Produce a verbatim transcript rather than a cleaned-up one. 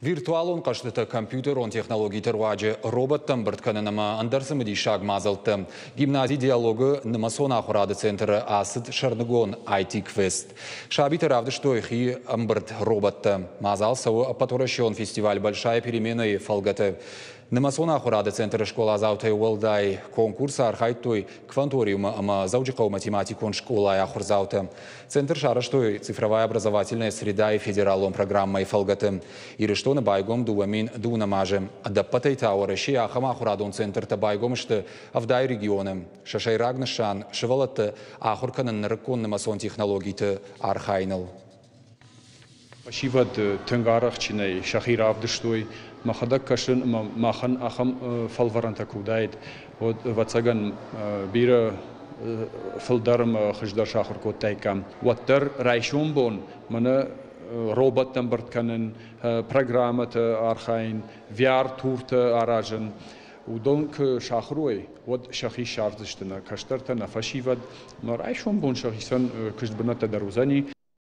Виртуалон хъӕзтытӕ, компьютерон технологиты руаджы роботтӕ ӕмбырд кӕнын ӕмӕ ӕндӕр цымыдисаг мадзӕлттӕ. Гимнази «Диалог»-ы нымӕцон ахуырады центры ацыд сӕрдыгон I T-квест. Сабитӕ равдыстой хи ӕмбырд роботтӕ. Мадзал цӕуы ӕппӕтуӕрӕсеон фестиваль «Большая перемена»-йы фӕлгӕты. Нымӕцон ахуырады центры скъоладзаутӕй уӕлдай конкурсы архайдтой Кванториумы ӕмӕ Дзӕуджыхъӕуы математикон скъолайы ахуырдзаутӕ. Центр сарӕзтой «Цифровая образовательная среда» федералон программӕйы фӕлгӕты. Ирыстоны байгом дыууӕ мин дыууынӕм азы. Ӕдӕппӕтӕй та Уӕрӕсейы ахӕм ахуырадон центртӕ байгом сты ӕвдай регионы. Сӕ сӕйраг нысан – сывӕллӕтты ахуыр кӕнын нырыккон нымӕцон технологиты архайыныл. Фӕсивӕд тынг арӕхстджынӕй сӕхи равдыстой. Мӕхӕдӕг кӕсын ӕмӕ махӕн ахӕм фӕлварӕнтӕ куы уыдаид, уӕд, ӕвӕццӕгӕн, бирӕ фылдӕр ӕмӕ хуыздӕр сахуыр кодтаиккам. Уӕддӕр райсом бон мӕнӕ роботтӕ ӕмбырд кӕнын, программӕты архайын, V R-туртӕ аразын. Уыдон куы сахуыр уой, уӕд сӕхи ссардзысты нӕ кӕстӕртӕ, нӕ фӕсивӕд. Ӕмӕ райсом бон сӕхицӕн куыстбынӕттӕ дӕр уыдзӕни.